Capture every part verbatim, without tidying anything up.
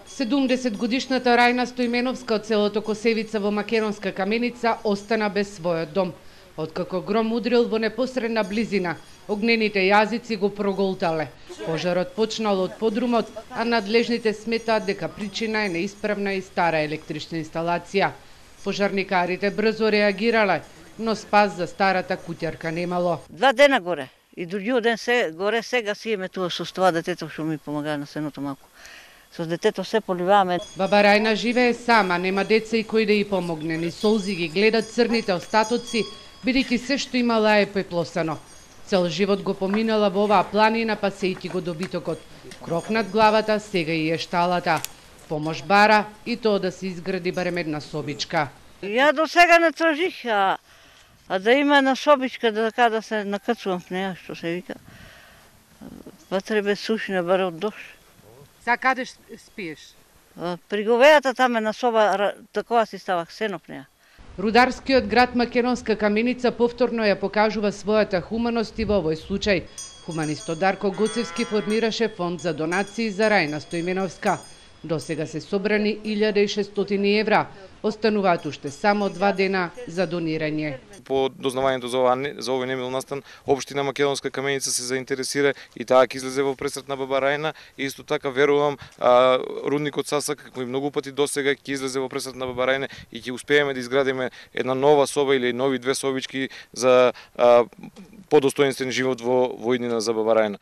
седумдесет годишната Рајна Стоименовска од селото Косевица во Македонска Каменица остана без својот дом. Откако гром удрил во непосредна близина, огнените јазици го проголтале. Пожарот почнал од подрумот, а надлежните сметаат дека причина е неисправна и стара електрична инсталација. Пожарникарите брзо реагирале, но спас за старата куќарка немало. Два дена горе и другиот ден се горе, сега си еме тоа со тоа детето што ми помага на сеното малку. Со детето се поливаме. Баба Рајна живее сама, нема деца и кој да ја помогне, ни солзи ги гледат црните остатоци, бидејќи се што имала е пеплосано. Цел живот го поминала во оваа планина, пасејќи го добитокот. Кров над главата, сега и е шталата. Помош бара и тоа да се изгради барем една собичка. Ја до сега не тражих, а, а да има една собичка, да така да се накацувам в неја, што се вика. Па треба сушина баре од дошт. За каде спиеш? При говејата там е на соба, такова си ставах сено в неја. Рударскиот град Македонска Каменица повторно ја покажува својата хуманост и во овој случај. Хуманистот Дарко Гоцевски формираше фонд за донации за Рајна Стоименовска. До сега се собрани илјада и шестстотини евра. Остануваат уште само два дена за донирање. По дознавањето за, ова, за овој немил настан, Општина Македонска Каменица се заинтересира и таа ќе излезе во пресрет на баба Рајна. И исто така верувам, а, рудникот Сасак, како и многу пати досега, ќе излезе во пресрет на баба Рајна и ќе успееме да изградиме една нова соба или нови две собички за а, подостоинствен живот во, во иднина за баба Рајна.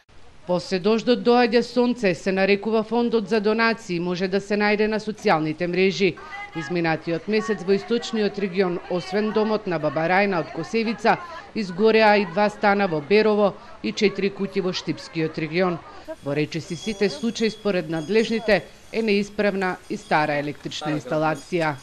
После дождот доаѓа сонце, се нарекува фондот за донации, може да се најде на социјалните мрежи. Изминатиот месец во источниот регион, освен домот на баба Рајна од Косевица, изгореа и два стана во Берово и четири куќи во Штипскиот регион. Во речиси сите случаи според надлежните е неисправна и стара електрична инсталација.